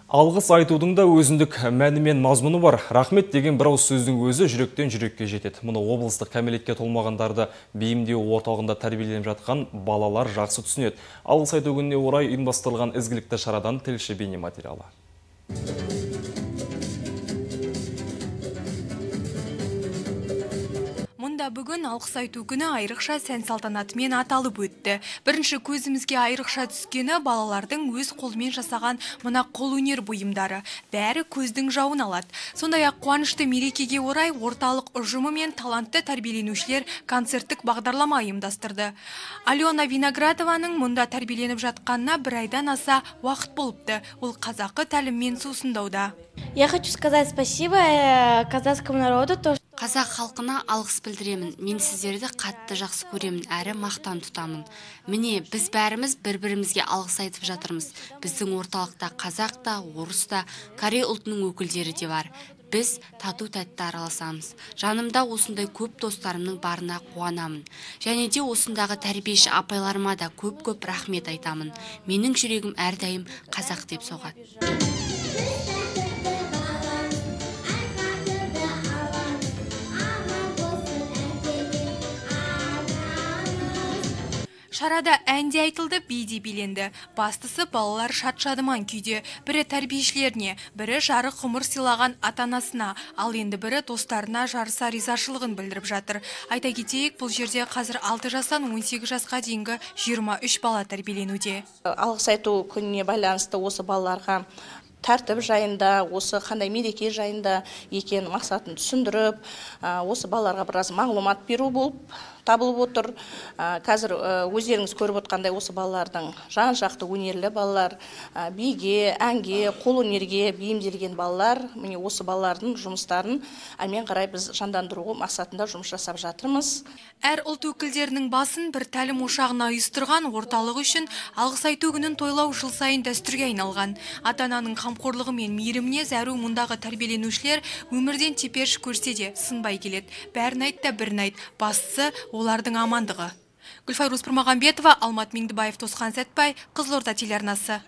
Алғыс айтудың да өзіндік мәні мен мазмұны бар. Рахмет деген бір ауыз сөздің өзі жүректен жүрекке жетеді. Мұны облыстық кәмелетке толмағандарды бейімдеу орталығында тәрбиеленіп жатқан балалар жақсы түсінеді. Алғыс айту күніне орай ұйымдастырылған ізгілікті шарадан тілші бейнематериалы. Мұнда бүгін алғыс айту күні айрықша сән салтанатымен аталып өтті. Бірінші көзімізге айрықша түскені балалардың өз қолымен жасаған мына қолөнер бұйымдары. Бәрі көздің жауын алады. Сондай-ақ қуанышты мерекеге орай орталық ұжымы мен талантты тәрбиеленушілер концерттік бағдарлама ұйымдастырды. Алена Виноградованың мұнда тәрбиеленіп жатқанына бір айдан аса уақыт болыпты. Ол қазақы тәліммен сусындауда. Я хочу сказать спасибо казахскому народу. Қазақ халқына алғыс білдіремін. Мен сіздерді қатты жақсы көремін, әрі мақтан тұтамын. Міне, біз бәріміз бір-бірімізге алғыс айтып жатырмыз. Біздің орталықта қазақ та, орыс та, корей ұлтының өкілдері де бар. Біз тату-тәтті араласамыз. Жанымда осындай көп достарымның барына қуанамын. Және де осындағы тәрбиеші апайларыма да көп-көп рахмет айтамын. Менің жүрегім әрдайым қазақ деп соғады. Шарада әнде айтылды, биде биленді. Бастысы балалар шат-шадыман күйде. Бірі тәрбиешілеріне, бірі жарық ғұмыр сыйлаған ата-анасына, ал енді бірі достарына жарыса ризашылығын білдіріп жатыр. Айта кетейік, бұл жерде қазір 6 жастан 18 жасқа дейінгі 23 бала тәрбиеленуде. Алғыс айту күніне байланысты осы балаларға тәртіп жайында, осы қандай мереке жайында екен мақсатын түсіндіріп, осы балаларға біраз мағлұмат беру болып табылып отыр. Қазір өздеріңіз көріп отқандай осы балалардың жан-жақты өнерлі балалар, биге, әнге, қолөнерге бейімделген балалар. Міне осы балалардың жұмыстарын әрмен қарай біз жандандыру мақсатында жұмыс жасап жатырмыз. Әр ұлт өкілдерінің басын бір тәлім ошағына ұйыстырған орталық үшін алғыс айту күнін тойлау жыл сайын дәстүрге айналған. Ата-ананың қамқорлығы мен мейіріміне зәру мұндағы тәрбиеленушілер өмірден теперіш көрсе де сынбай келеді. Бәрін айт та бірін айт. Бастысы олардың амандығы. Гүлфайрус Пірмағамбетова, Алмат Меңдібаев, Тосқан Сәтбай, Қызылорда телеарнасы.